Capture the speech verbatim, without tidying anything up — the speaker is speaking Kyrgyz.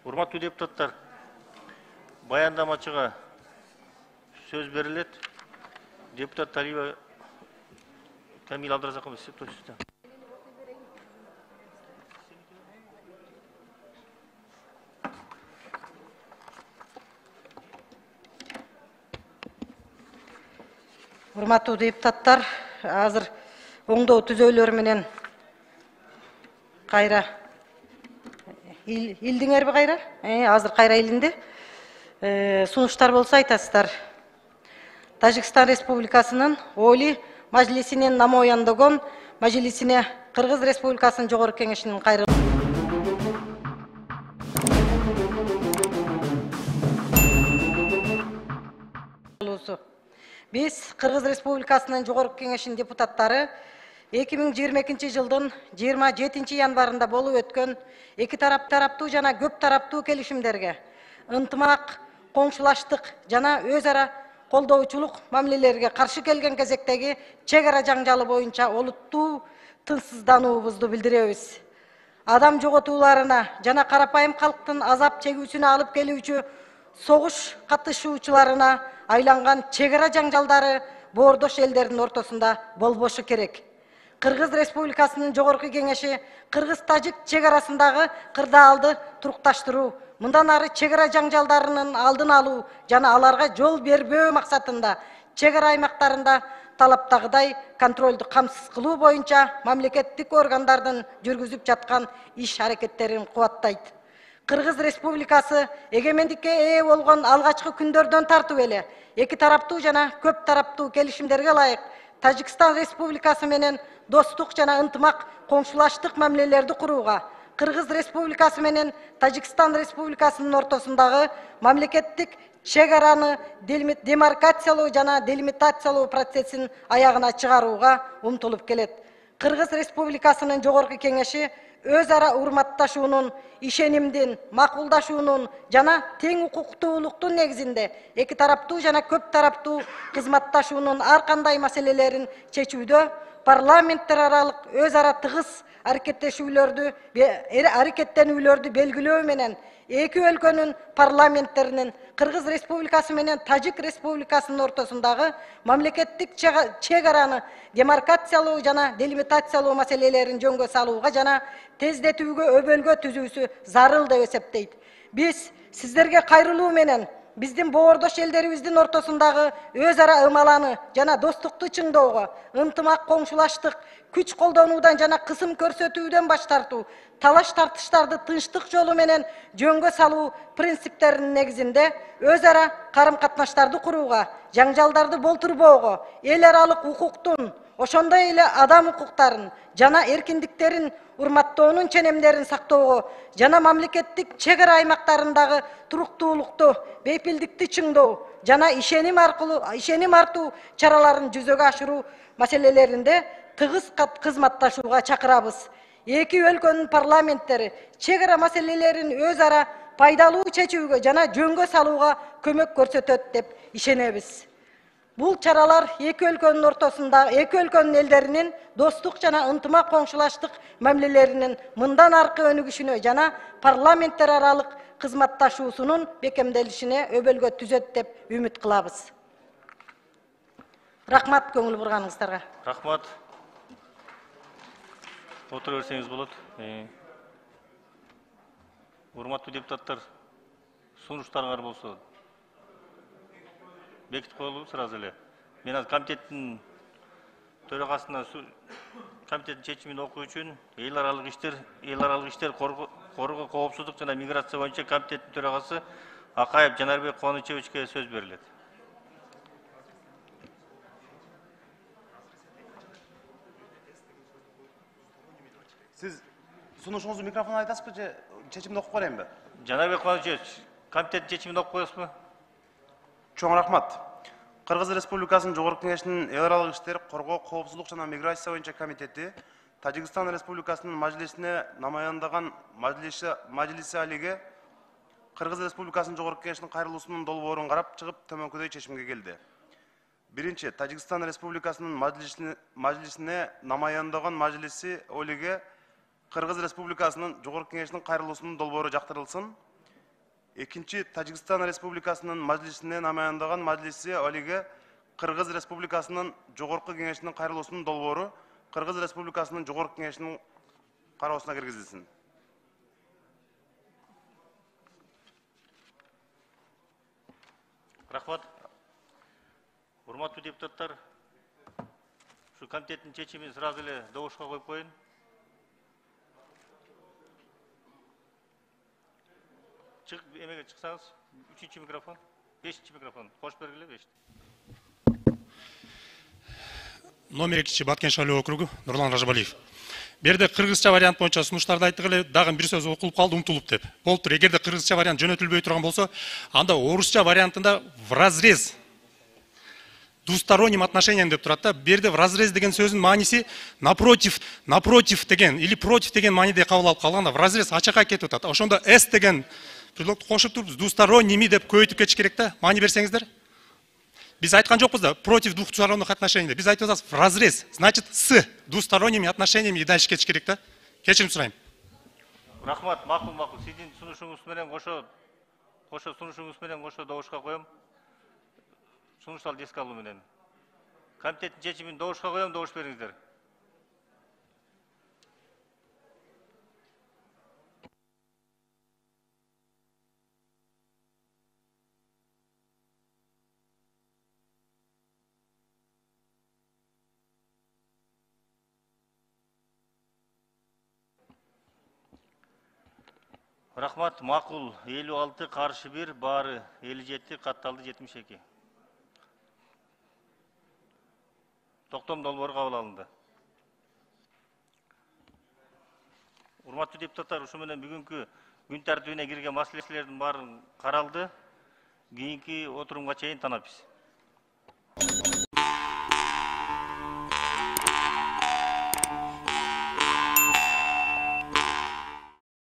Урматтуу депутаттар, баяндамачыга сөз берилет. Депутат Талиева Камил Абдразакович, сиз точно. Урматтуу депутаттар, азыр оңдоо түзөөлөр менен кайра илдиңерби кайра? Азыр кайра илинди. Сунуштар болсо айтасыздар. Тажикстан Республикасынын Оли Мажлисинин намояндаган Мажлисине Кыргыз Республикасынын Жогорку Кеңешинин кайрылуусу. Биз Кыргыз Республикасынын Жогорку Кеңешинин депутаттары эки миң жыйырма экинчи жылдын жыйырма жетинчи январында болуп өткөн эки тарап тараптуу жана көп тараптуу келишимдерге, ынтымак, коңшулаштык жана өз ара колдоочулук мамилелерге каршы келген кезектеги чек ара жаңжалы боюнча олуттуу тынчсыздануубузду билдиребиз. Адам жоготууларына жана карапайым калктын азап чегүүсүнө алып келүүчү согуш катышуучуларына айланган чек ара жаңжалдары боордош элдердин ортосунда болбошу керек. Кыргыз Республикасынын Жогорку Кеңеши Кыргыз-Тажик чек арасындагы кырдаалды турукташтыруу, мындан ары чек ара жаңжалдарынын алдын алуу жана аларга жол бербөө максатында чек ара аймактарында талаптагыдай контролду камсыз кылуу боюнча мамлекеттик органдардын жүргүзүп жаткан иш аракеттерин кубаттайт. Кыргыз Республикасы эгемендикке ээ болгон алгачкы күндөрдөн тартып эле эки тараптуу жана көп тараптуу келишимдерге ылайык Тажикстан Республикасы менен достук жана ынтымак коңшулаштык мамилелерди курууга, Кыргыз Республикасы менен Тажикстан Республикасынын ортосундагы мамлекеттик чек араны демаркациялоо жана делимитациялоо процессин аягына чыгарууга умтулуп келет. Кыргыз Республикасынын Жогорку Кеңеши өз ара урматташуунун, ишенимдин, макулдашуунун жана тең укуктуулуктун негизинде эки тараптуу жана көп тараптуу кызматташуунун ар кандай маселелерин чечүүдө парламенттер аралык өз ара тыгыз аракеттешүүлөрдү аракеттенүүлөрдү белгилөө менен эки өлкөнүн парламенттеринин Кыргыз Республикасы менен Тажик Республикасынын ортосундагы мамлекеттик чек араны демаркациялоо жана делимитациялоо маселелерин жөнгө салууга жана тездетүүгө өбөлгө түзүүсү зарыл деп эсептейт. Биз сиздерге кайрылуу менен биздин боордош элдерибиздин ортосундагы өз ара ымаланы жана достукту чыңдоого, ынтымак коңшулаштык, күч колдонуудан жана кысым көрсөтүүдөн баш тартуу, талаш тартыштарды тынчтык жолу менен жөнгө салуу принциптеринин негизинде өз ара карым-катнаштарды курууга, жаңжалдарды болтурбоого, эл аралык укуктун, ошондой эле адам укуктарын жана эркиндиктерин урматтоонун ченемдерин сактоого жана мамлекеттик чек ара аймактарындагы туруктуулукту, бейпилдикти чыңдоо жана ишеним аркылуу ишеним артуу чараларын жүзөгө ашыруу маселелеринде тыгыз кызматташууга чакырабыз. Эки өлкөнүн парламенттери чек ара маселелерин өз ара пайдалуу чечүүгө жана жөнгө салууга көмөк көрсөтөт деп ишенебиз. Бул чаралар эки өлкөнүн ортосунда эки өлкөнүн элдеринин достук жана ынтымак коңшулаштык мамилелеринин мындан аркы өнүгүшүнө жана парламенттер аралык кызматташуусунун бекемделишине өбөлгө түзөт деп үмүт кылабыз. Рахмат көңүл бурганыңыздарга. Рахмат. Отура берсеңиз болот. Урматтуу депутаттар, сунуштарыңар болсо бекитип коелу сразу эле. Мен азыр комитеттин төрагасына комитеттин чечимин окуу үчүн эл аралык иштер, эл аралык иштер коргоо коопсуздук жана миграция боюнча комитеттин төрагасы Акаев Жанарбек Кубанычевичке сөз берилет. Сиз сунушуңузду микрофон айтасызбы же чечимди окуп берейинби? Жанарбек Кубанычевич, комитеттин чечимин окуп коесузбу? Чоң рахмат. Кыргыз Республикасынын Жогорку Кеңешинин эл аралык иштер, коргоо, коопсуздук жана миграция боюнча комитети Тажикстан Республикасынын Мажлисине намаяндаган Мажлиси Алиге Кыргыз Республикасынын Жогорку Кеңешинин кайрылуусунун долбоорун карап чыгып төмөнкүдөй чечимге келди. Биринчи, Тажикстан Республикасынын Мажлисине намаяндаган Мажлиси Алиге Кыргыз Республикасынын Жогорку Кеңешинин кайрылуусунун долбоору жактырылсын. экинчи Тажикстан Республикасынын Мажлисине намаяндаган Мажлиси Олиге Кыргыз Республикасынын Жогорку Кеңешинин кайрылуусунун долбоору Кыргыз Республикасынын Жогорку Кеңешинин кароосуна киргизилсин. Рахмат. Урматтуу депутаттар, ушу комитеттин чечимин сразу эле добушка коюп коеюн. Чык, эмеге чыксаңыз, үчүнчү микрофон, бешинчи микрофон, кош бергиле, беш. Номер экинчи Баткен шайлоо округу Нурлан Ражабалиев. Берде кыргызча вариант боюнча сунуштарды айттык эле, дагы бир сөз окулуп калды, умтулуп деп. Болуптур, эгерде кыргызча вариант жөнөтүлбөй турган болсо, анда орусча вариантында в разрез двусторонним отношениям деп турат да. Берде в разрез деген сөзүнүн мааниси напротив, напротив деген или против деген мааниде кабыл алып калганда в разрез ачакка кетип атат. Ошондо с деген предлогду кошуп туруп двусторонними деп көбөйтүп кетиш керек да. Маани берсеңиздер. Биз айткан жокпуз да, против двухсторонних отношений. Биз айтып атабыз в разрез, значит с двусторонними отношениями дальше кетиш керек да. Кечирим сурайм. Рахмат, макул, макул. Сиздин сунушуңуз менен кошо, кошо сунушуңуз менен кошо добушка коем. Сунушталды эске алуу менен. Комитеттин чечимин добушка коем, добуш бериңиздер. Рахмат, макул. элүү алты, каршы бир, баары элүү жети, катталды жетимиш эки. Токтом долбоору кабыл алынды. Урматтуу депутаттар, ушу менен бүгүнкү күн тартибине кирген маселелердин баары каралды. Кийинки отурумга чейин танапбиз.